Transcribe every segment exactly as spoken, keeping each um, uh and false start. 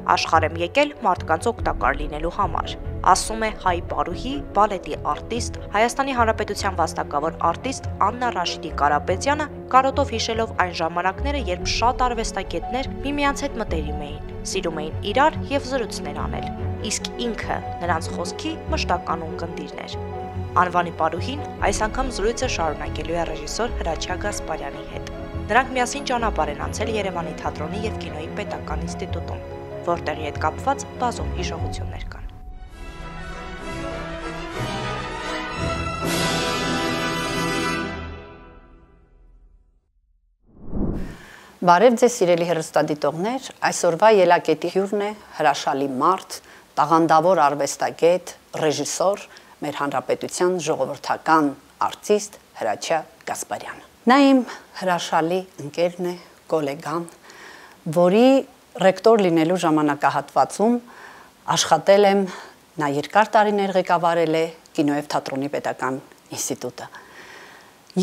Աշխարհ եմ եկել մարդկանց օգտակար լինելու համար, ասում է հայ պարուհի, բալետի արտիստ, Հայաստանի Հանրապետության վաստակավոր արտիստ Աննա Ռաշիդի Կարապետյանը, կարոտով հիշելով այն ժամանակները, երբ շատ արվեստագետներ միմյանց հետ մտերիմ էին, սիրում էին իրար եւ զրույցներ անել, իսկ ինքը նրանց խոսքի մշտական ունկնդիրն էր։ Անվանի պարուհին այս անգամ զրույցը շարունակելու է ռեժիսոր Հրաչյա Գասպարյանի հետ։ Նրանք միասին ճանապարհ են անցել Երևանի թատրոնի եւ կինոյի պետական ինստիտուտում, որտեղի հետ կապված բազում հիշողություններ կան։ Բարև ձեզ սիրելի հեռուստադիտողներ, այսօրվա ելակետի հյուրն է հրաշալի մարդ, տաղանդավոր արվեստագետ, ռեժիսոր, մեր հանրապետության ժողովրդական արտիստ Հրաչյա Գասպարյանը։ Նա իմ հրաշալի ընկերն է, գոլեգան, որի ռեկտոր լինելու ժամանակահատվածում աշխատել եմ, նա երկար տարիներ ղեկավարել է կինո եւ թատրոնի պետական ինստիտուտը։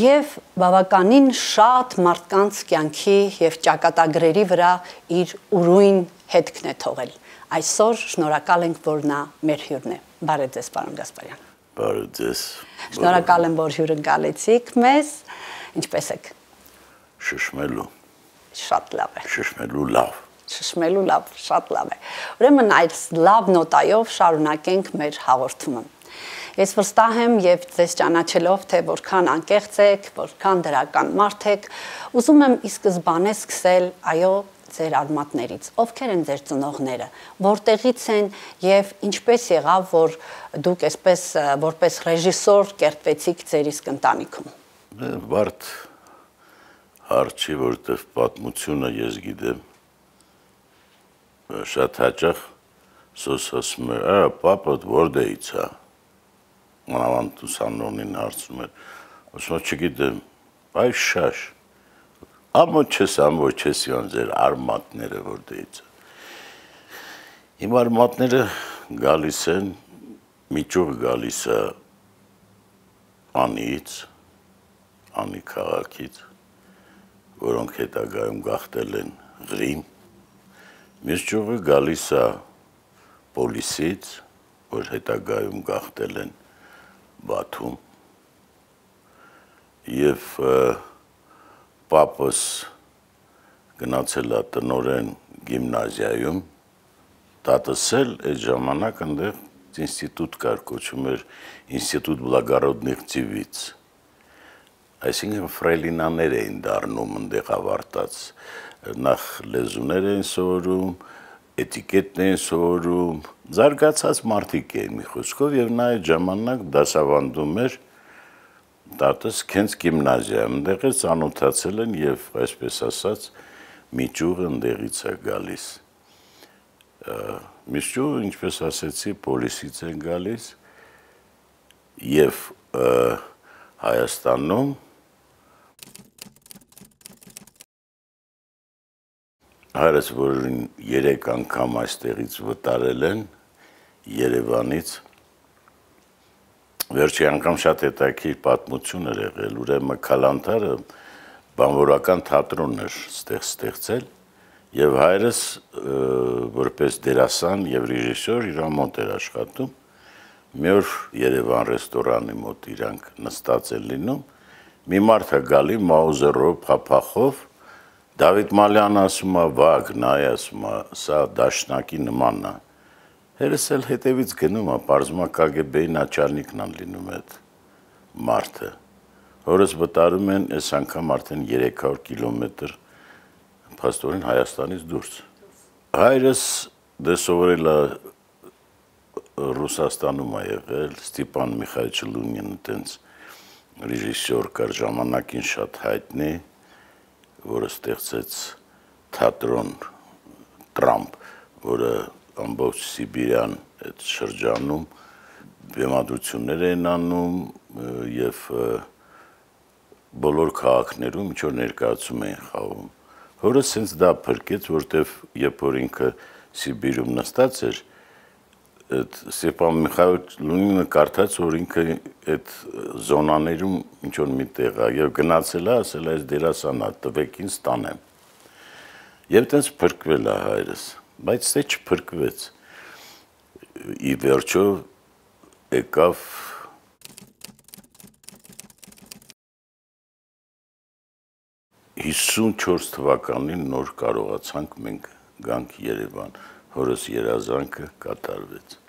Եվ բավականին շատ մարդկանց կյանքի եւ ճակատագրերի վրա իր ուրույն հետքն է թողել։ Այսօր շնորհակալ ենք, որ նա մեր հյուրն է։ Բարև ձեզ, պարոն Գասպարյան։ Բարև ձեզ։ Շնորհակալ եմ, որ հյուրընկալեցիք մեզ։ Ինչպե՞ս եք։ Շշմելու։ Շատ լավ է։ Շշմելու լավ։ Շշմելու լավ, շատ լավ է։ Ուրեմն այս լավ նոտայով շարունակենք մեր հաղորդումը։ Ես վստահ եմ եւ ձեզ ճանաչելով, թե որքան անկեղծ եք, որքան դրական մարդ եք, ուզում եմ ի սկզբանե սկսել, այո, ձեր արմատներից։ Ովքեր են ձեր ծնողները, որտեղից են եւ ինչպես եղավ, որ դուք այսպես որպես ռեժիսոր կերտվեցիք ձեր իսկ ընտանիքում։ Բարդ հարց չի, որտեղ պատմությունը ես գիտեմ շատ հաճախ սոս ասում է, «Ա, պապդ որտեղից է»։ Մանավանդ ուսանողին հարցում էր, ասում է, չգիտեմ, այս շաշ։ Ամո չես, ամո չես յոն ձեր արմատները որտեղից է։ Իմ արմատները գալիս են, մի ճյուղ գալիս է Անիից, Անի քաղաքից, որոնք հետագայում գաղթել են Ղրիմ, մյուս ճյուղը գալիս է Պոլիսից, որ հետագայում գաղթել են Բաթում, եւ պապս գնացել է տնօրեն գիմնազիայում, տատս էլ այդ ժամանակ այնտեղ ինստիտուտ կար, կոչվում էր Ինստիտուտ Բլագարոդնիխ Ձիվից, այսինքն ֆրելինաներ էին դառնում այնտեղ ավարտած, նախ լեզուներ էին սովորում, էտիկետն էին սովորում, զարգացած մարդիկ էին մի խոսքով եւ նա այդ ժամանակ դասավանդում էր տատս քենց գիմնազիայում, այնտեղ էլ ծանոթացել են եւ այսպես ասած մի ճյուղ այնտեղից է գալիս։ Մի ճյուղ, ինչպես ասեցի, Պոլիսից են գալիս եւ Հայաստանում Հայրս, որին երեք անգամ այստեղից վտարել են Երևանից, վերջի անգամ շատ հետաքրքիր պատմություն էր եղել, ուրեմն Քալանթարը բանվորական թատրոն էր ստեղծել եւ հայրս որպես դերասան եւ ռեժիսոր իր մոտ էր աշխատում, մի օր Երևան ռեստորանի մոտ իրանք նստած են լինում, մի մարդ է գալի մաուզերով, փափախով, Դավիթ Մալյանը ասում է, վագ, նայ ասում է, սա դաշնակի նմանն է։ Հերս էլ հետևից գնում է, պարզում է Կ Գ B-ի նաչալնիկն են լինում այդ մարդը։ Հորս վտարում են, այս անգամ արդեն երեք հարյուր կիլոմետր փաստորեն Հայաստանից դուրս։ Հայրս դե սովորել է Ռուսաստանում է եղել, Ստիպան Միխայիչ Լունինը տենց ռեժիսոր կար, ժամանակին շատ հայտնի, որը ստեղծեց թատրոն Տրամփ, որը ամբողջ Սիբիրյան այդ շրջանում բեմադրություններ են անում եւ բոլոր քաղաքներում ինչ որ ներկայացում են խաղում։ Հորս ինձ դա փրկեց, որտեվ երբ որ ինքը Սիբիրում նստած էր, այդ Ստեփան Միխայիչ Լունինը կարդաց, որ ինքը այդ զոնաներում ինչ որ մի տեղ է եւ գնացել է, ասել է այս դերասանա տվեք ինձ տանեմ։ Եվ տենց փրկվել է հայրս։ բայց դե չփրկվեց։ Ի վերջո եկավ հիսունչորս թվականին նոր կարողացանք մենք գանք Երևան, հորս երազանքը կատարվեց։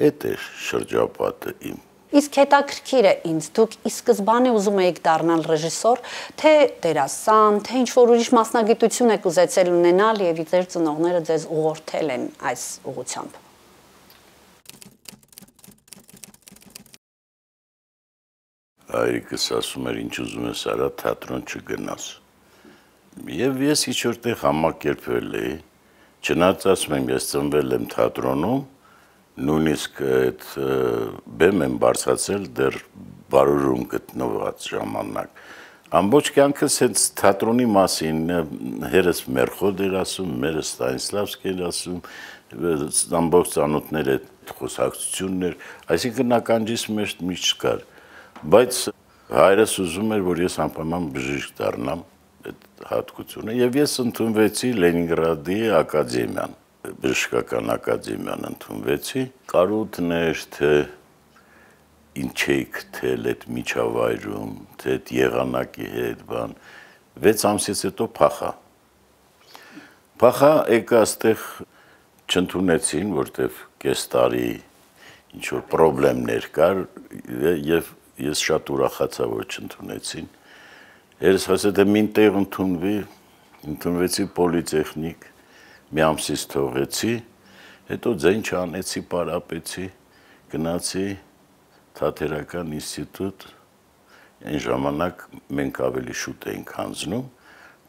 Էդ էր շրջապատը իմ։ Իսկ հետաքրքիր է ինձ, դուք ի սկզբանե ուզում եք դառնալ ռեժիսոր, թե դերասան, թե ինչ-որ ուրիշ մասնագիտություն եք ուզեցել ունենալ եւ ձեր ծնողները ձեզ ուղղորդել են այս ուղղությամբ։ Հայրիկս ասում էր, ինչ ուզում ես արա, թատրոն չգնաս։ Եվ ես ինչ-որտեղ համակերպվել էի, չնայած ասում եմ, ես ծնվել եմ թատրոնում, նույնիսկ այդ բեմ եմ բարձրացել դեռ բարուրում գտնված ժամանակ։ Ամբողջ կյանքս հենց թատրոնի մասին, հերս Մերխոդ էր ասում, մերը Ստանիսլավսկի էր ասում, ամբողջ ծանոթներ այդ խոսակցությունն էր, այսինքն ականջիս մեջ միշտ չկար, բայց հայրս ուզում էր, որ ես անպայման բժիշկ դառնամ այդ հատկությունը, եւ ես ընդունվեցի Լենինգրադի ակադեմիան, բժշկական ակադեմիան ընդունվեցի, կարոտներ, թե ինչ էի գտել այդ միջավայրում, թե այդ եղանակի հետ, բան, վեց ամսից հետո փախա։ Փախա եկա այստեղ չընդունեցին, որտեվ կես տարի ինչ-որ պրոբլեմներ կար, եւ ես շատ ուրախացա, որ չընդունեցին։ Երես ասա, թե մին տեղ ընդունվի, ընդունվեցի պոլիտեխնիկ, մի ամսից թողեցի, հետո ձայն չանեցի, պարապեցի, գնացի թատերական ինստիտուտ, այն ժամանակ մենք ավելի շուտ էինք հանձնում,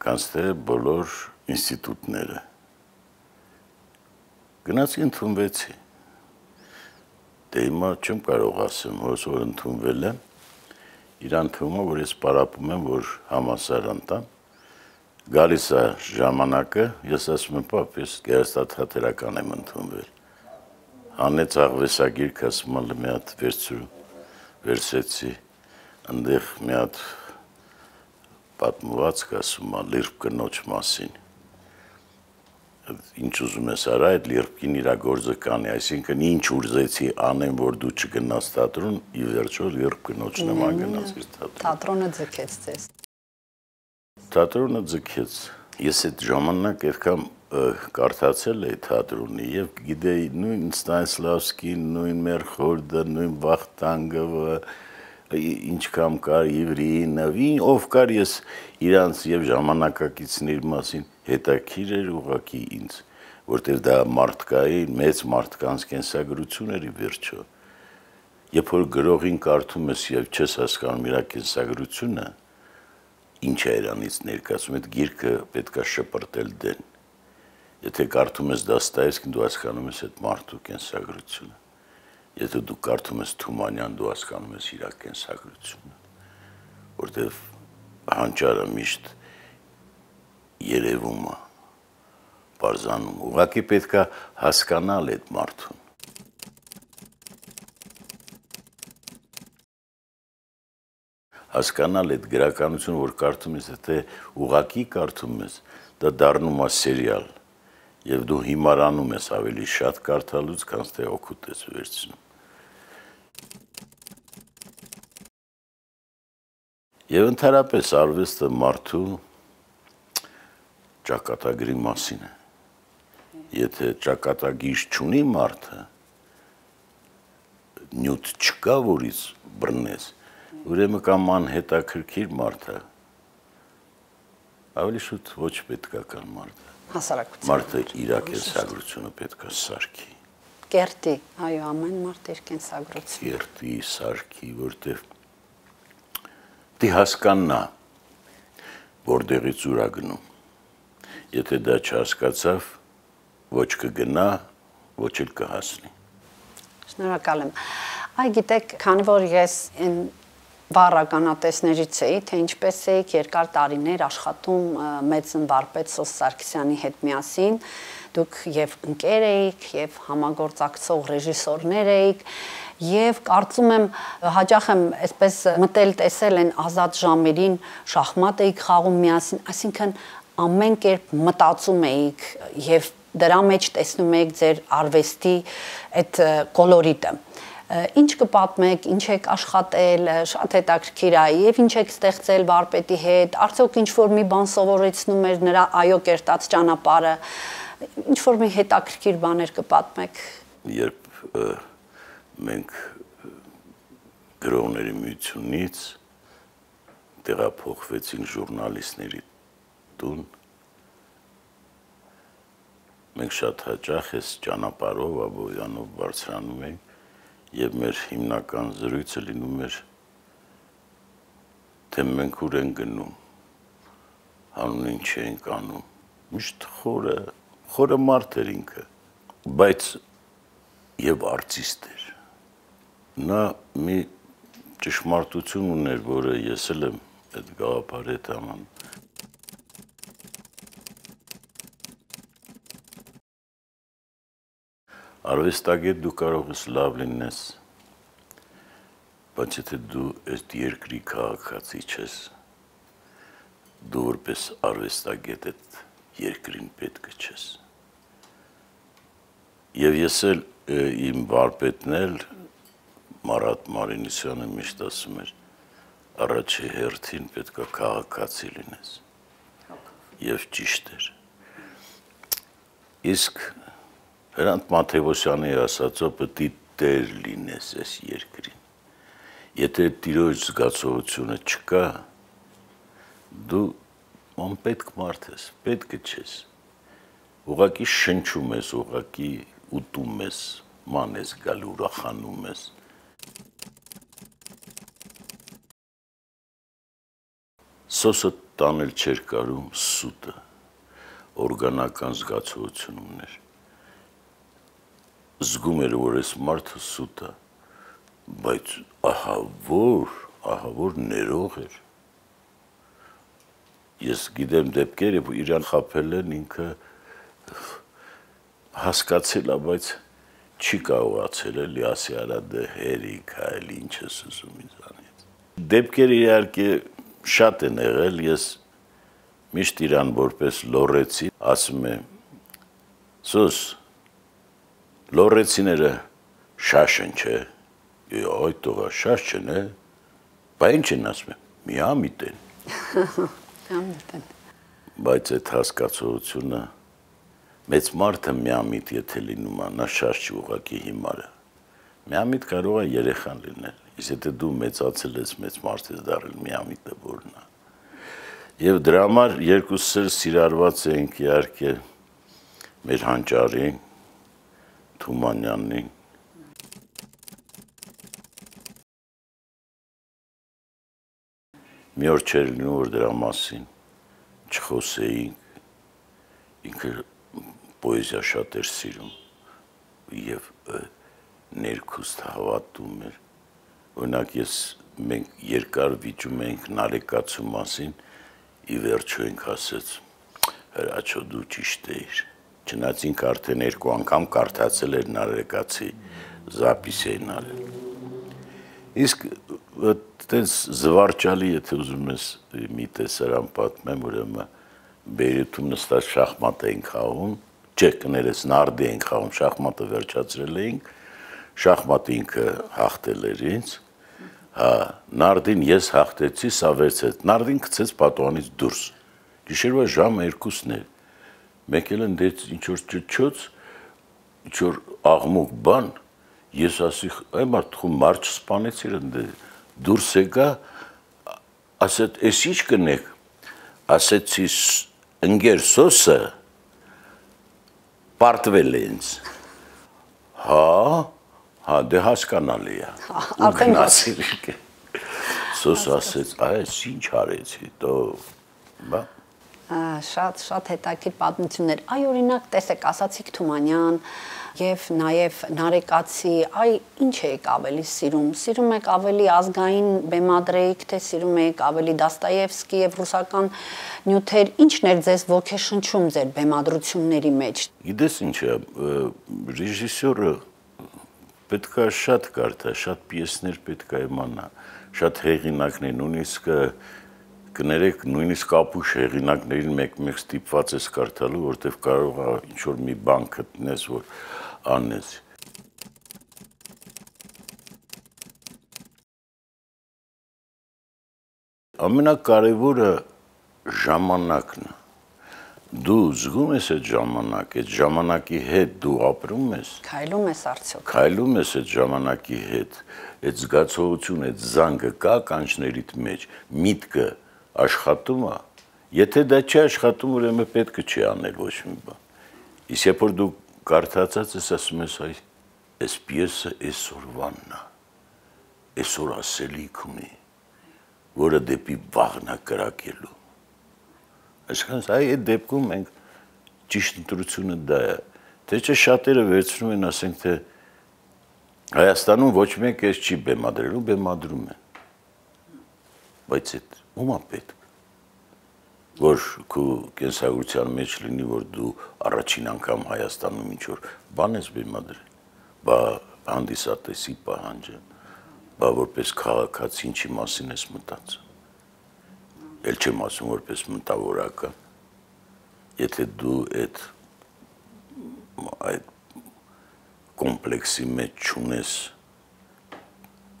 քան թե բոլոր ինստիտուտները։ Գնացի ընդունվեցի։ Դե հիմա չեմ կարող ասեմ, որ ընդունվել եմ, իրան թվում է, որ ես պարապում եմ, որ համալսարան տամ, գալիս է ժամանակը, ես ասում եմ, պապ, ես գեղեցկաթատերական եմ ընդունվել։ Հանեց աղվեսագիրք, ասում եմ, մի հատ վերցրու, վերցեցի, ընդեղ մի հատ պատմվածք, ասում եմ, լիրբ կնոջ մասին։ Ինչ ուզում ես արա, այդ լիրբքին իրա գործը կանի, այսինքն ինչ ուզեցի անեմ, որ դու չգնաս թատրոն, ի վերջո լիրբ կնոջ նման գնացիր թատրոն։ Թատրոնը ձգեց ձեզ։ Թատրոնը ձգեց։ Ես այդ ժամանակ այդքան կարդացել էի թատրոնի եւ գիտեի նույն Ստանիսլավսկին, նույն Մերխորդը, նույն Վախտանգովը, ինչքան կար Իվրինովին, ով կար ես իրանց եւ ժամանակակիցների մասին հետաքրիր էր ուղղակի ինձ, որտեղ դա մարդկայի մեծ մարդկանց կենսագրություն էր ի վերջո։ Երբ որ գրողին կարդում ես եւ չես հասկանում իր կենսագրությունը, ինչ է իրանից ներկայացում, այդ գիրքը պետքա շպրտել դեն։ Եթե կարդում ես Դոստոևսկին, դու հասկանում ես այդ մարդու կենսագրությունը։ Եթե դու կարդում ես Թումանյան, դու հասկանում ես իր կենսագրությունը, որտեղ հանճարը միշտ երևում է, բարձանում։ Ուղղակի պետքա հասկանալ այդ մարդուն։ Հասկանալ այդ գրականությունը, որ կարդում ես, եթե ուղղակի կարդում ես, դա դառնում է սերիալ, եւ դու հիմարանում ես ավելի շատ կարդալուց, քան թե օգուտ ես վերցնում։ Եվ ընդհանրապես արվեստը մարդու ճակատագրի մասին է։ Եթե ճակատագիր չունի մարդը, նյութ չկա, որից բռնես, ուրեմն կամ անհետաքրքիր մարդ է, ավելի շուտ ոչ պետքական մարդ է։ Հասարակության Մարդը իր կենսագրությունը պետք է սարքի։ Կերտի, այո, ամեն մարդ իր կենսագրությունը։ Կերտի, սարքի, որտեղ դի հասկանա, որտեղից ուր է գնում։ Եթե դա չհասկացավ, ոչ կգնա, ոչ էլ կհասնի։ Շնորհակալ եմ։ Այ գիտեք, քանի որ ես այն վառականատեսներից էի, թե ինչպես էիք երկար տարիներ աշխատում մեծ վարպետ Սոս Սարգսյանի հետ միասին, դուք եւ ընկեր էիք, եւ համագործակցող ռեժիսորներ էիք, եւ կարծում եմ հաճախ եմ այսպես մտել տեսել են ազատ ժամերին շախմատ էիք խաղում միասին, այսինքն ամեն կերպ մտածում էիք եւ դրա մեջ տեսնում եք ձեր արվեստի այդ կոլորիտը։ Ինչ կպատմեք, ինչ եք աշխատել, շատ հետաքրքիր է, եւ ինչ եք ստեղծել վարպետի հետ, արդյոք ինչ որ մի բան սովորեցնում էր նրա այո կերտած ճանապարհը, ինչ որ մի հետաքրքիր բաներ կպատմեք։ Երբ մենք գրողների միությունից տեղափոխվեցինք ժուրնալիստների տուն, մենք շատ հաճախ այս ճանապարհով Աբովյանով բարձրանում ենք եւ մեր հիմնական զրույցը լինում էր, թե մենք ուր ենք գնում, հանուն ինչ ենք անում, միշտ խորը, խորը մարդ էր ինքը, բայց եւ արտիստ էր։ Նա մի ճշմարտություն ուներ, որը ես էլ եմ այդ գաղափարի հետ համան։ Արվեստագետ դու կարող ես լավ լինես, բայց եթե դու այդ երկրի քաղաքացի չես, դու որպես արվեստագետ այդ երկրին պետք չես։ Եվ ես էլ իմ վարպետն էլ Մարատ Մարինիսյանը միշտ ասում էր, առաջի հերթին պետք է քաղաքացի լինես։ Եվ ճիշտ էր։ Իսկ Հրանտ Մաթևոսյանի ասածը պետք է տեր լինես այս երկրին։ Եթե տիրոջ զգացողությունը չկա, դու անպետք մարդ ես, պետք չես։ Ուղղակի շնչում ես, ուղղակի ուտում ես, ման ես գալ ուրախանում ես։ Սոսը տանել չէր կարում սուտը, օրգանական զգացողություն ուներ։ Զգում էր, որ այս մարդը սուտ է, բայց ահա որ, ահա որ ներող էր։ Ես գիտեմ դեպքեր, որ իրան խաբել են, ինքը հասկացել է, բայց չի կարողացել էլի ասի արա դե հերիք, այլ ինչ ես ուզում ինձանից։ Դեպքեր իհարկե շատ են եղել, ես միշտ իրան որպես լոռեցի, ասում եմ, Սոս, լոռեցիները շաշ են, չէ, այ տողա շաշ չեն, է, բա ինչ են ասում եմ, միամիտ են։ Միամիտ են։ Բայց այդ հասկացողությունը, մեծ մարդը միամիտ եթե լինում է, նա շաշ չի ուղղակի հիմարը։ Միամիտ կարող է երեխան լինել, իսկ եթե դու մեծացել ես, մեծ մարդ ես դառել, միամիտը որն է։ Եվ դրա համար երկուսս էլ սիրարված ենք իհարկե մեր հանճարին, Թումանյանին։ Մի օր չէր լինում, որ դրա մասին չխոսեինք, ինքը պոեզիա շատ էր սիրում և ներքուստ հավատում էր, օրինակ ես մենք երկար վիճում էինք Նարեկացու մասին, ի վերջո ենք ասեց, հրաչո դու ճիշտ էիր, չնայած ինքը արդեն երկու անգամ կարդացել էր Նարեկացի զապիս էին արել։ Իսկ այդպես զվարճալի, եթե ուզում ես մի տեսարան պատմեմ, ուրեմն Բեյրութում նստած շախմատ էինք խաղում, չէ, կներես նարդի էինք խաղում, շախմատը վերջացրել էինք, շախմատը ինքը հաղթել էր ինձ, հա, նարդին ես հաղթեցի, սա վերցեց, նարդին գցեց պատուհանից դուրս, գիշերվա ժամը երկուսն էր, մեկ էլ ընդեց ինչ-որ ճչոց, ինչ-որ աղմուկ բան, ես ասի, այ մարդ խում մարդ չսպանեցիր ընդե, դուրս եկա, ասեց, ես ինչ կնեք, ասեցի, ընգեր Սոսը պարտվել է ինձ, հա, հա, դե հասկանալի է, ու գնացիր եկե, Սոսը ասեց, այս ինչ արեցի, դո, բա, Շատ շատ հետաքրքիր պատմություններ։ Այ օրինակ տեսեք, ասացիք Թումանյան եւ նաեւ Նարեկացի, այ ինչ եք ավելի սիրում։ Սիրում եք ավելի ազգային բեմադրեիք, թե սիրում եք ավելի Դաստոևսկի եւ ռուսական նյութեր, ինչն էր ձեզ ոգեշնչում ձեր բեմադրությունների մեջ։ Գիտես ինչ է, ռեժիսորը պետք է շատ կարդա, շատ պիեսներ պետք է իմանա, շատ հեղինակներ, նույնիսկ կներեք նույնիսկ ապուշ հեղինակներին մեկ-մեկ ստիպված ես կարդալու, որտեվ կարող է ինչ-որ մի բան գտնես, որ անես։ Ամենակարևորը ժամանակն է։ Դու զգում ես այդ ժամանակ, այդ ժամանակի հետ դու ապրում ես։ Քայլում ես արդյոք։ Քայլում ես այդ ժամանակի հետ, այդ զգացողություն, այդ զանգը կա կանչներիդ մեջ, միտքը աշխատում է։ Եթե դա չի աշխատում, ուրեմն պետք է չի անել ոչ մի բան։ Իսկ երբ որ դու կարդացած ես, ասում ես, այ այս պիեսը այսօրվանն է, այսօր ասելիք ունի, որը դեպի վաղն է կրակելու։ Այսինքն, այ այդ դեպքում մենք ճիշտ ընտրությունը դա է։ Թե չէ շատերը վերցնում են, ասենք թե Հայաստանում ոչ մեկ էս չի բեմադրելու, բեմադրում են։ Բայց այդ ո՞ւմ է պետք, որ քո կենսագրության մեջ լինի, որ դու առաջին անգամ Հայաստանում ինչ որ բան ես բեմադրել, բա հանդիսատեսի պահանջը, բա որպես քաղաքացի ինչի մասին ես մտածում։ Էլ չեմ ասում որպես մտավորական, եթե դու այդ այդ կոմպլեքսի մեջ չունես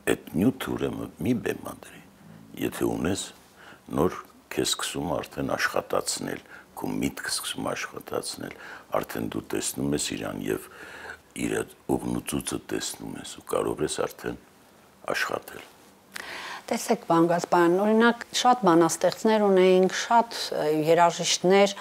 այդ նյութը, ուրեմն մի բեմադրի, եթե ունես, նոր քեզ սկսում արդեն աշխատացնել, քո միտքը սկսում աշխատացնել, արդեն դու տեսնում ես իրան եւ իր ուղնուցուցը տեսնում ես ու կարող ես արդեն աշխատել։ Տեսեք, պարոն Գասպարյան, օրինակ շատ բանաստեղծներ ունեինք, շատ երաժիշտներ,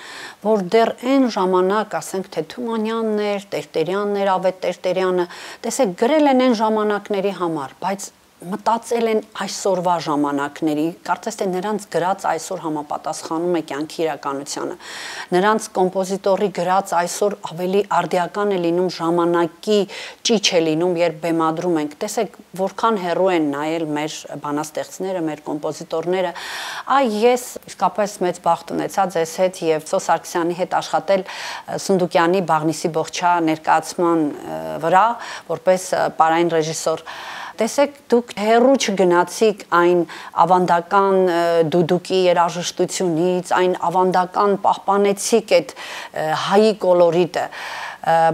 որ դեռ այն ժամանակ, ասենք թե Թումանյանն էր, Տերտերյանն էր, Ավետ Տերտերյանը, տեսեք, գրել են այն ժամանակների համար, բայց մտածել են այսօրվա ժամանակների, կարծես թե նրանց գրած այսօր համապատասխանում է կյանքի իրականությանը։ Նրանց կոմպոզիտորի գրած այսօր ավելի արդիական է լինում, ժամանակի ճիչ է լինում, երբ բեմադրում ենք։ Տեսեք, որքան հեռու են նայել մեր բանաստեղծները, մեր կոմպոզիտորները։ Այ ես իսկապես մեծ բախտ ունեցա ձեզ հետ եւ Ծո Սարգսյանի հետ աշխատել Սունդուկյանի Բաղնիսի Բողջա ներկայացման վրա, որպես պարային ռեժիսոր։ Տեսեք, դուք հեռու չգնացիք այն ավանդական դուդուկի երաժշտությունից, այն ավանդական պահպանեցիք այդ հայի կոլորիտը,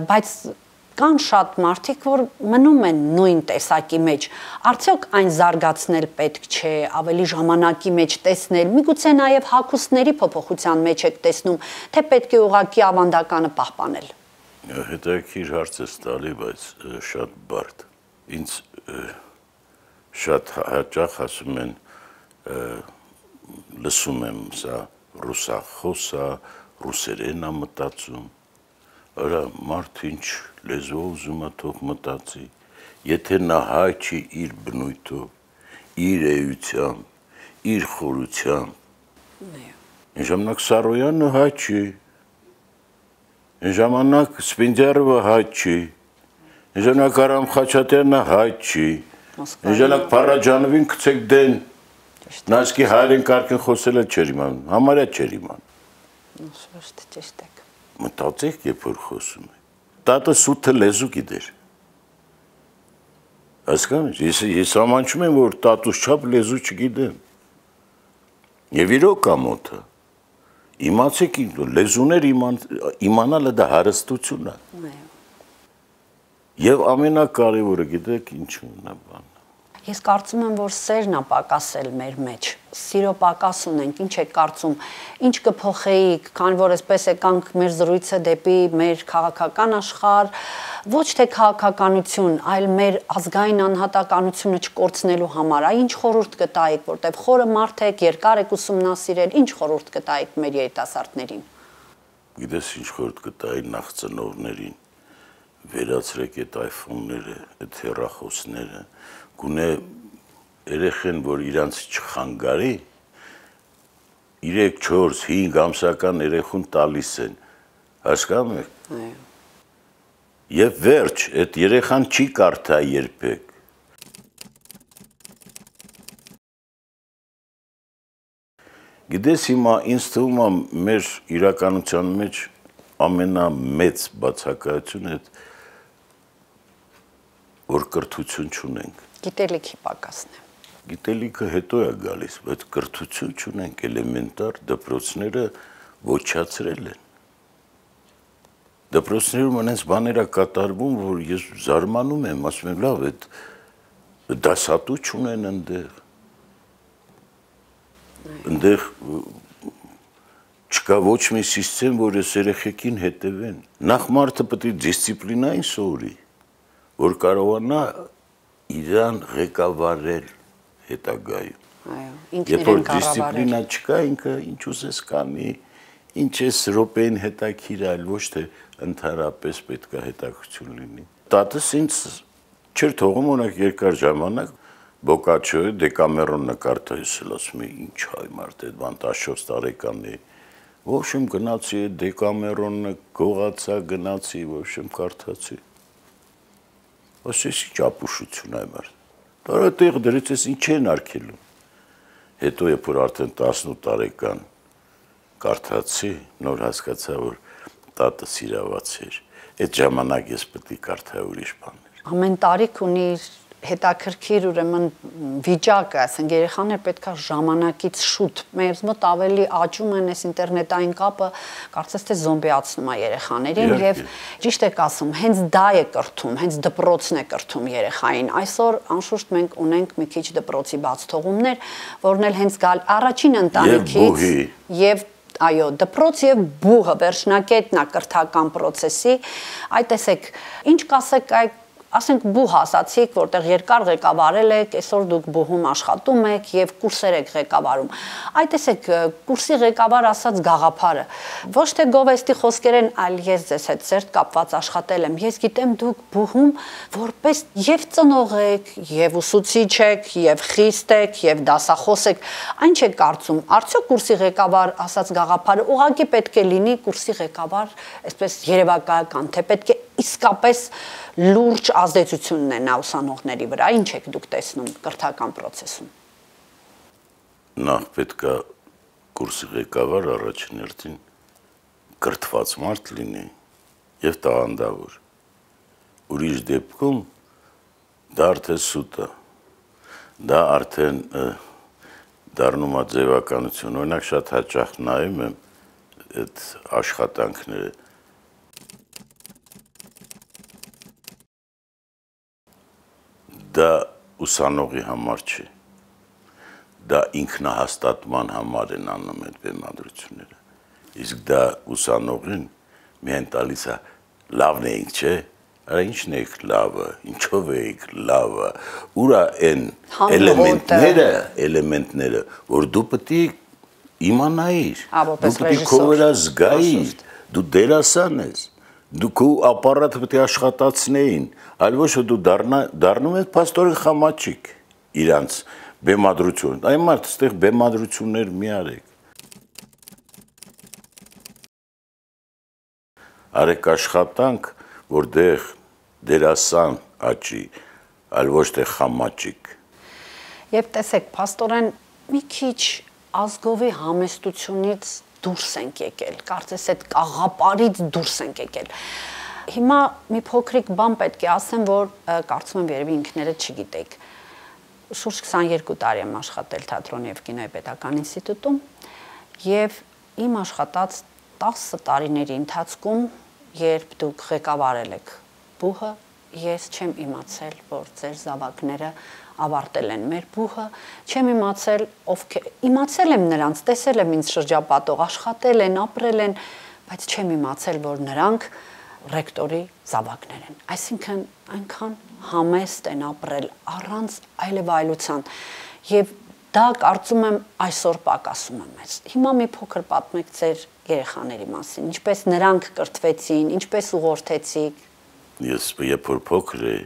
բայց կան շատ մարդիկ, որ մնում են նույն տեսակի մեջ, արդյոք այն զարգացնել պետք չէ, ավելի ժամանակի մեջ տեսնել, միգուցե նաև հագուստների փոփոխության մեջ եք տեսնում, թե պետք է ուղղակի ավանդականը պահպանել։ Հետաքրքիր հարց ես տալի, բայց շատ բարդ։ Ինձ շատ հաճախ ասում են, լսում եմ սա ռուսախոս է, ռուսերեն է մտածում, արա մարդ ինչ լեզվով ուզում է թող մտածի, եթե նա հայ չի իր բնույթով, իր էությամբ, իր խորությամբ, այն ժամանակ Սարոյանը հայ չի, այն ժամանակ Սպենդիարովը հայ չի, այն ժամանակ Արամ Խաչատրյանը հայ չի, այն ժամանակ Փարաջանովին գցեք դեն, նա իսկի հայերեն կարգին խոսել է չեր իմանում, համարյա չեր իմանում։ Ճիշտ եք։ Մտածեք, երբ որ խոսում եք, տատը սութը լեզու գիտեր։ Հասկանու՞մ, ես ես ամաչում եմ, որ տատուս չափ լեզու չգիտեմ։ Եվ իրոք ամոթը։ Իմացեք, լեզուներ իմանալը դա հարստություն է։ Եվ ամենակարևորը գիտեք ինչու՞ն է բանը։ Ես կարծում եմ, որ սերն է պակասել մեր մեջ, սիրո պակաս ունենք, ինչ եք կարծում, ինչ կփոխեիք, քանի որ այսպես եկանք մեր զրույցը դեպի մեր քաղաքական աշխարհ, ոչ թե քաղաքականություն, այլ մեր ազգային անհատականությունը չկորցնելու համար, այ ինչ խորհուրդ կտայիք, որտեղ խորը մարդ եք, երկար եք ուսումնասիրել, ինչ խորհուրդ կտայիք մեր երիտասարդներին։ Գիտես ինչ խորհուրդ կտայի նախ ծնողներին, վերացրեք այդ iPhone-ները, այդ հեռախոսները, գունե երեխեն, որ իրանց չխանգարի, երեք, չորս, հինգ ամսական երեխուն տալիս են, հասկանում եք։ Եվ վերջ, այդ երեխան չի կարդա երբեք։ Գիտես հիմա ինձ թվում է մեր իրականության մեջ ամենամեծ բացակայությունը այդ որ կրթություն չունենք։ Գիտելիքի պակասն է։ գիտելիքը հետո է գալիս, բայց կրթություն չունենք, էլեմենտար դպրոցները ոչացրել են։ Դպրոցներում այնպես բաներ է կատարվում, որ ես զարմանում եմ, ասում եմ, լավ, այդ դասատու չունեն այնտեղ։ Այնտեղ չկա ոչ մի սիստեմ, որ այս երեխեքին հետևեն։ Նախ մարդը պետք է դիսցիպլինային սովորի, որ կարողանա իրան ղեկավարել հետագայում։ Այո, Երբ ինքն որ իրեն կառավարել։ դիսցիպլինա չկա, ինքը ինչ ուզես կանի, ինչ էս րոպեին հետաքրիր, այլ ոչ թե ընդհանրապես պետք է հետաքրություն լինի։ Տատս ինձ չէր թողում օրինակ երկար ժամանակ Բոկաչոյի Դեկամերոն նկարդա, ես էլ ասում եմ, ինչ հայ մարդ է, բան տասնչորս տարեկան է։ В общем, գնացի Դեկամերոնը, գողացա, գնացի, в общем, կարդացի։ Ասես ինչ ապուշություն է մարդ։ Բարը տեղ դրեց ես ինչ են արգելում։ Հետո երբ որ արդեն տասնութ տարեկան կարդացի, նոր հասկացա, որ տատը սիրաված էր։ Այդ ժամանակ ես պետք է կարդայի ուրիշ բաներ։ Ամեն տարիք ունի հետաքրքիր ուրեմն վիճակը, ասենք երեխաները պետք է ժամանակից շուտ, մեզ մոտ ավելի աճում են այս ինտերնետային կապը, կարծես թե զոմբիացնում է երեխաներին եւ ճիշտ եք ասում, հենց դա է կրթում, հենց դպրոցն է կրթում երեխային։ Այսօր անշուշտ մենք ունենք մի քիչ դպրոցի բացթողումներ, որն էլ հենց գալ առաջին ընտանիքից եւ այո, դպրոց եւ բուհը վերջնակետն է կրթական process-ի, այ տեսեք, ինչ կասեք այ ասենք բուհ ասացիք, որտեղ երկար ղեկավարել եք, այսօր դուք բուհում աշխատում եք եւ կուրսեր եք ղեկավարում։ Այ տեսեք, կուրսի ղեկավար ասած գաղափարը, ոչ թե գովեստի խոսքերեն, այլ ես ձեզ հետ սերտ կապված աշխատել եմ։ Ես գիտեմ դուք բուհում որպես եւ ծնող եք, եւ ուսուցիչ եք, եւ խիստ եք, եւ դասախոս եք։ Այն չեք կարծում, արդյոք կուրսի ղեկավար ասած գաղափարը ուղղակի պետք է լինի կուրսի ղեկավար, այսպես երևակայական, թե պետք է իսկապես լուրջ ազդեցություն ունենա ուսանողների վրա, ինչ եք դուք տեսնում կրթական process-ում։ Նախ պետք է կուրսի ղեկավար առաջին հերթին կրթված մարդ լինի եւ տաղանդավոր։ Ուրիշ դեպքում դա արդեն սուտ է։ Դա արդեն դառնում է ձևականություն։ Օրինակ շատ հաճախ նայում եմ այդ աշխատանքները դա ուսանողի համար չի, դա ինքնահաստատման համար են անում այդ բեմադրությունները, իսկ դա ուսանողին միայն տալիս է լավն էինք, չէ, արա ինչն էիք լավը, ինչով էիք լավը, ուրա են էլեմենտները, էլեմենտները, որ դու պետք է իմանայիր, դու պետք է քո վրա զգայիր, դու դերասան ես, դու քո ապարատը պետք է աշխատացնեին, այլ ոչ որ դու դառնում ես փաստորեն խամաչիկ իրանց բեմադրություն։ Այն մարդ այստեղ բեմադրություններ մի արեք։ Արեք աշխատանք, որտեղ դերասան աճի, այլ ոչ թե խամաչիկ։ Եվ տեսեք, փաստորեն մի քիչ ազգովի համեստությունից դուրս ենք եկել, կարծես այդ կաղապարից դուրս ենք եկել։ Հիմա մի փոքրիկ բան պետք է ասեմ, որ կարծում եմ երևի ինքներդ չգիտեք։ Շուրջ քսաներկու տարի եմ աշխատել թատրոնի եւ կինոյի պետական ինստիտուտում եւ իմ աշխատած տասը տարիների ընթացքում, երբ դուք ղեկավարել եք բուհը, ես չեմ իմացել, որ ձեր զավակները ավարտել են մեր բուհը, չեմ իմացել ովքեր, իմացել եմ նրանց, տեսել եմ ինձ շրջապատող, աշխատել են, ապրել են, բայց չեմ իմացել, որ նրանք ռեկտորի զավակներ են։ Այսինքն այնքան համեստ են ապրել առանց այլևայլության եւ դա կարծում եմ այսօր պակասում է մեզ։ Հիմա մի փոքր պատմեք ձեր երեխաների մասին, ինչպես նրանք կրթվեցին, ինչպես ուղղորդեցիք։ Ես երբ որ փոքր էի,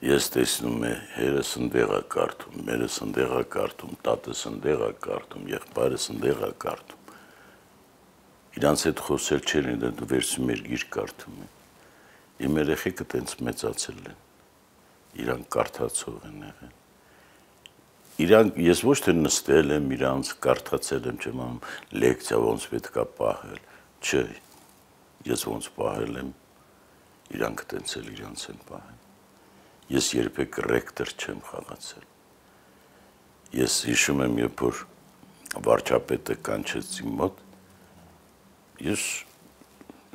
ես տեսնում եմ հերս ընդեղ է կարդում, մերս ընդեղ է կարդում, տատս ընդեղ է կարդում, եղբայրս ընդեղ է կարդում։ Իրանց հետ խոսել չեն, դու վերցում ես գիրք կարդում են։ Իմ երեխեքը տենց մեծացել են։ Իրանք կարդացող են եղել։ Իրանք ես ոչ թե նստել եմ, իրանց կարդացել եմ, չեմ անում լեկցիա ոնց պետք է պահել, չէ։ Ես ոնց պահել եմ, իրանք տենց էլ իրանց են պահել։ Ես երբեք ռեկտոր չեմ խաղացել։ ես հիշում եմ, երբ որ վարչապետը կանչեց իմ մոտ, ես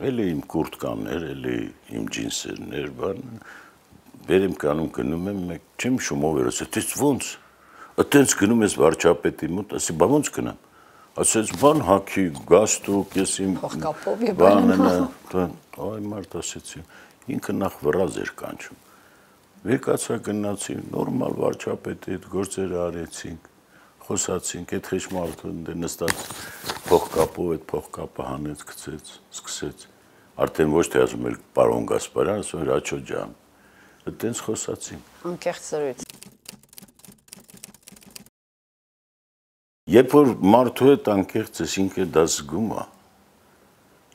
էլի իմ կուրտկաներ, էլի իմ ջինսերներ, բան, բեր եմ կանում գնում եմ, մեկ չեմ շումով էր, ասեց, ես ոնց, ըտենց գնում ես վարչապետի մոտ, ասի, բա ոնց գնամ, ասեց, բան հաքի, գաստուկ, ես իմ բանենը, այ մարդ ասեցի, ինքը նախ վրազ էր կանչում, վեկացա գնացի, նորմալ վարչապետի հետ գործերը արեցինք, խոսացինք, այդ խիչ մարդը նստած փողկապով, այդ փողկապը հանեց, գցեց, սկսեց, արդեն ոչ թե ասում էր պարոն Գասպարյան, ասում էր Աչո ջան, այդտենց խոսացինք։ Անկեղծ զրույց։ Երբ որ մարդու հետ անկեղծ ես, ինքը դա զգում է,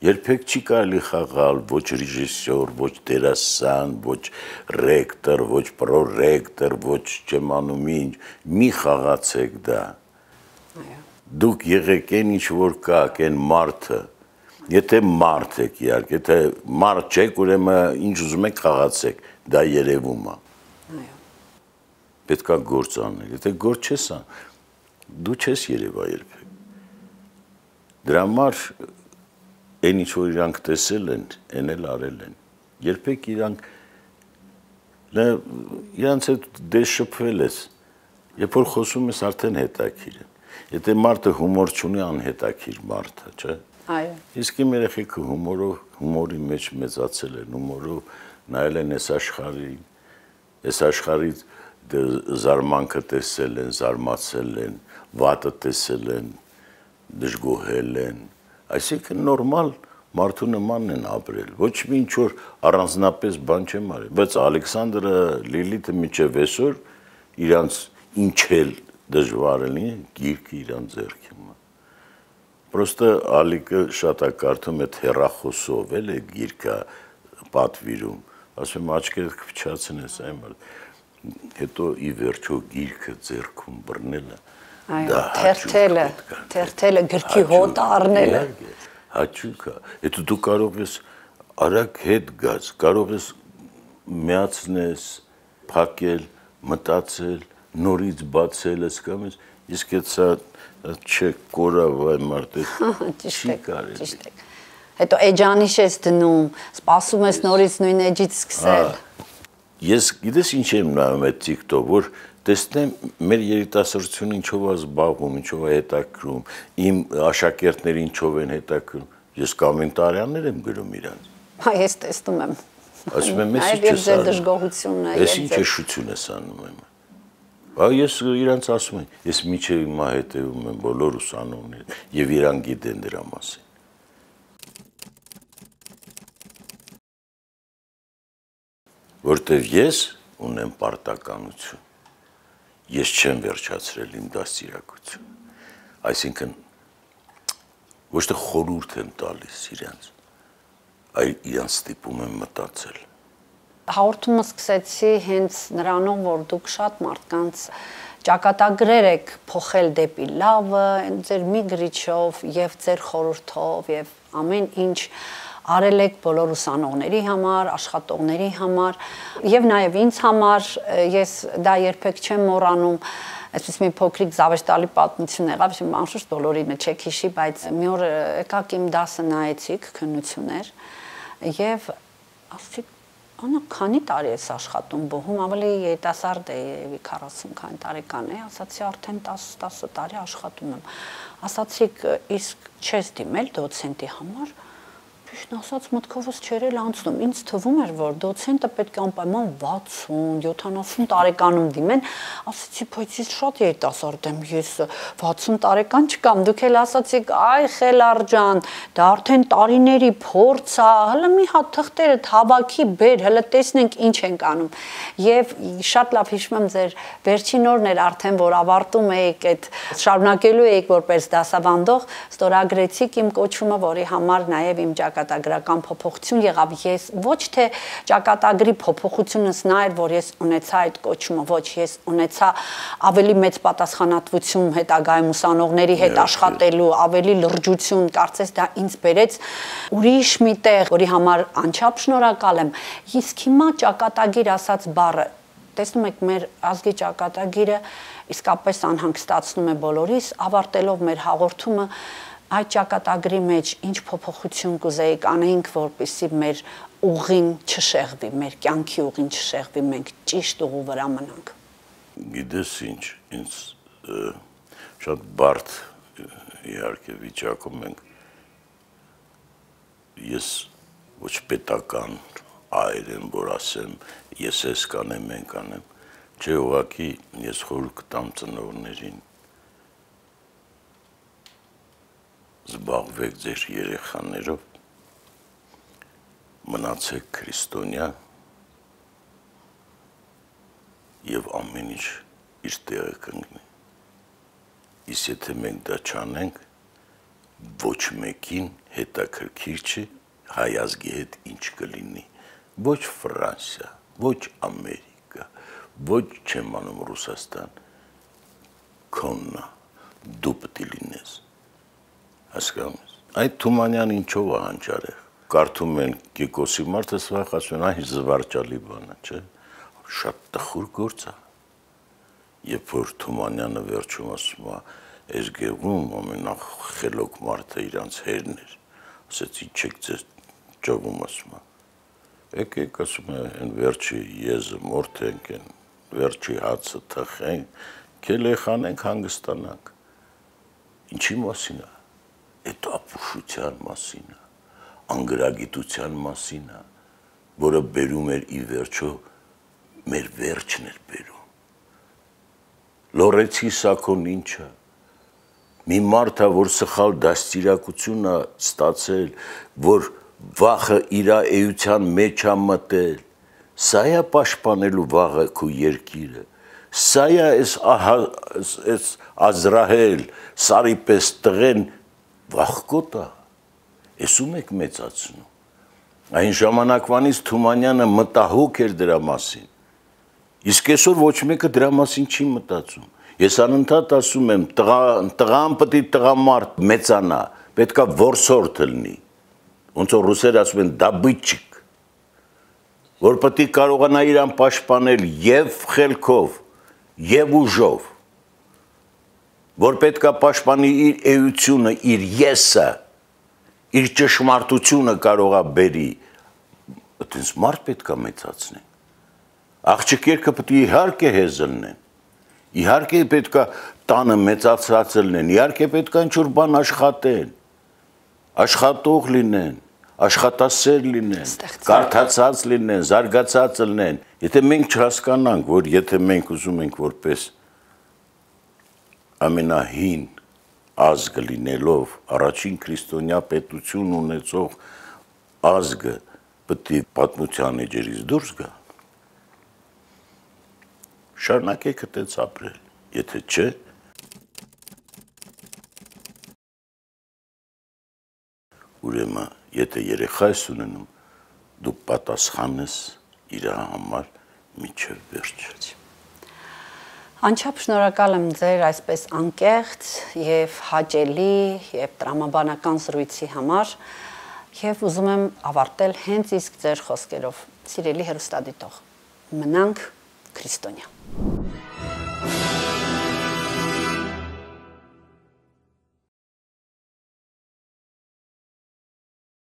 երբեք չի կարելի խաղալ ոչ ռեժիսոր, ոչ դերասան, ոչ ռեկտոր, ոչ պրոռեկտոր, ոչ չեմ անում ինչ, մի խաղացեք դա։ Դուք եղեք այն ինչ որ կաք, այն մարդը, եթե մարդ եք իհարկե, եթե մարդ չեք, ուրեմն ինչ ուզում եք խաղացեք, դա երևում է։ Պետք է գործ անել, եթե գործ չես անում, դու չես երևա երբեք։ Դրա համար այն ինչ որ իրանք տեսել են, այն էլ արել են։ Երբեք իրանք իրանց հետ դե շփվել ես, երբ որ խոսում ես արդեն հետաքրքիր է։ Եթե մարդը հումոր չունի, անհետաքրքիր մարդ է, չէ՞։ Այո։ Իսկ իմ երեխեքը հումորով, հումորի մեջ մեծացել են, հումորով նայել են այս աշխարհին, այս աշխարհի զարմանքը տեսել են, զարմացել են, վատը տեսել են, դժգոհել են, այսինքն նորմալ մարդու նմանն են ապրել, ոչ մի ինչ որ առանձնապես բան չեմ արել, բայց Ալեքսանդրը, Լիլիթը մինչև այսօր իրանց ինչ էլ դժվար լինի, գիրքը իրանց ձեռքում է։ Պրոստը Ալիկը շատ է կարդում այդ հեռախոսով, էլ է գիրքը պատվիրում, ասում եմ աչքերդ կփչացնես, այն հետո ի վերջո գիրքը ձեռքում բռնելը Այո, թերթելը, թերթելը գրքի հոտ առնելը։ Հաճույք է, հետո դու կարող ես արագ հետ գաս, կարող ես միացնես, փակել, մտածել, նորից բացել, ասկամ ես, իսկ այդ սա չէ կորավ այ մարդը չի կարելի։ Ճիշտ է։ Հետո էջանիշ ես դնում, սպասում ես նորից նույն էջից սկսել։ Ես գիտես ինչ եմ նայում այդ TikTok, որ տեսնեմ մեր երիտասարդությունը ինչով է զբաղվում, ինչով է հետաքրում, իմ աշակերտները ինչով են հետաքրում, ես կոմենտարիաներ եմ գրում իրանց։ Հա, ես տեսնում եմ։ Ասում եմ, ես ինչ ես դժգոհությունը, ես ինչ շշություն ես անում եմ։ Բա ես իրանց ասում եմ, ես միջև հիմա հետևում եմ բոլոր ուսանողները եւ իրան գիտեն դրա մասին։ Որտեվ ես ունեմ պարտականություն, ես չեմ վերջացրել իմ դաստիարակությունը, այսինքն ոչ թե խորհուրդ եմ տալիս իրանց, այլ իրանց ստիպում եմ մտածել։ Հաղորդումը սկսեցի հենց նրանով, որ դուք շատ մարդկանց ճակատագրեր եք փոխել դեպի լավը, ձեր մի գրիչով եւ ձեր խորհրդով եւ ամեն ինչ արել եք բոլոր ուսանողների համար, աշխատողների համար եւ նաեւ ինձ համար, ես դա երբեք չեմ մոռանում, այսպես մի փոքրիկ զավեշտալի պատմություն եղավ, իմ անշուշտ բոլորինը չեք հիշի, բայց մի օր եկաք իմ դասը նայեցիք, քննություններ եւ ասեցիք, անա քանի տարի ես աշխատում բոհում, ավելի երիտասարդ է, եւի քառասուն քանի տարեկան է, ասացի արդեն տասը տարի աշխատում եմ, ասացիք իսկ չես դիմել դոցենտի համար, Ճիշտ ասած մտքովս չէր էլ անցնում, ինձ թվում էր, որ դոցենտը պետք է անպայման վաթսուն, յոթանասուն տարեկանում դիմեն, ասացի, բայց ես շատ երիտասարդ եմ, ես վաթսուն տարեկան չկամ, դուք էլ ասացիք, այ Խելար ջան, դա արդեն տարիների փորձ է, հələ մի հատ թղթերը հավաքի բեր, հələ տեսնենք ինչ ենք անում։ Եվ շատ լավ հիշում եմ ձեր վերջին օրն էր արդեն, որ ավարտում էիք այդ շարունակելու էիք որպես դասավանդող, ստորագրեցիք իմ կոչումը, որի համար նաև իմ ճակատագրական փոփոխություն եղավ, ես ոչ թե ճակատագրի փոփոխությունս նա էր, որ ես ունեցա այդ կոչումը, ոչ, ես ունեցա ավելի մեծ պատասխանատվություն հետագայում ուսանողների հետ աշխատելու, ավելի լրջություն, կարծես դա ինձ բերեց ուրիշ մի տեղ, որի համար անչափ շնորհակալ եմ։ Իսկ հիմա ճակատագիր ասած բառը տեսնում եք մեր ազգի ճակատագիրը իսկապես անհանգստացնում է բոլորիս, ավարտելով մեր հաղորդումը այդ ճակատագրի մեջ ինչ փոփոխություն կուզեիք անեինք, որպեսզի մեր ուղին չշեղվի, մեր կյանքի ուղին չշեղվի, մենք ճիշտ ուղու վրա մնանք։ Գիտես ինչ, ինձ շատ բարդ իհարկե վիճակում ենք, ես ոչ պետական այր եմ, որ ասեմ, ես ես կանեմ, մենք անեմ, չէ ուղղակի ես խորհուրդ կտամ ծնողներին, զբաղվեք ձեր երեխաներով, մնացեք քրիստոնյա և ամեն ինչ իր տեղը կընկնի։ Իսկ եթե մենք դա չանենք, ոչ մեկին հետաքրքիր չի հայ ազգի հետ ինչ կլինի, ոչ Ֆրանսիա, ոչ Ամերիկա, ոչ չեմ անում Ռուսաստան, քոննա, դու պտի լինես, հասկանում ես, այդ Թումանյան ինչով է հանճարեղ, կարդում են Կիկոսի մարդը սվախ ասում են, այն զվարճալի բանը, չէ, շատ տխուր գործ է, երբ որ Թումանյանը վերջում ասում է, այս գեղում ամենախելոք մարդը իրանց հերն էր, ասեց ինչ եք ձեզ ճովում ասում է, եկեք ասում է, են վերջի եզը մորթենք, են վերջի հացը թխենք, կելեխանենք հանգստանանք, ինչի մասին է, այդ ապուշության մասին է, անգրագիտության մասին է, որը բերում էր ի վերջո, մեր վերջն էր բերում, լորեցի սակոն ինչը, մի մարդը, որ սխալ դաստիարակություն է ստացել, որ վախը իրա էության մեջ է մտել, սա է պաշտպանելու վաղը քո երկիրը, սա է այս Ազրահել, Սարի պես տղեն վախկոտ է, եսում եք մեծացնում, այն ժամանակվանից Թումանյանը մտահոգ էր դրա մասին, իսկ այսօր ոչ մեկը դրա մասին չի մտածում, ես անընդհատ ասում եմ, տղան պտի տղամարդ մեծանա, պետք է որսորդ լինի, ոնց որ ռուսերը ասում են դաբытчик, որ պտի կարողանա իրան պաշտպանել եւ խելքով, եւ ուժով, որ պետք է պաշտպանի իր էությունը, իր եսը, իր ճշմարտությունը կարող է բերի, այդպես մարդ պետք է մեծացնեն, աղջիկերքը պտի իհարկե հեզ լինեն, իհարկե պետք է տանը մեծացած լինեն, իհարկե պետք է ինչ-որ բան աշխատեն, աշխատող լինեն, աշխատասեր լինեն, կարդացած լինեն, զարգացած լինեն, եթե մենք չհասկանանք, որ եթե մենք ուզում ենք որպես ամենահին ազգը լինելով, առաջին քրիստոնյա պետություն ունեցող ազգը պետք է պատմության էջերից դուրս գա, շարունակեք այդպես ապրել, եթե չէ, ուրեմն, եթե երեխա ես ունենում, դու պատասխան ես իր համար մինչև վերջ։ Անչափ շնորհակալ եմ ձեր այսպես անկեղծ եւ հաճելի եւ տրամաբանական զրույցի համար եւ ուզում եմ ավարտել հենց իսկ ձեր խոսքերով, սիրելի հեռուստադիտող, մնանք քրիստոնյա։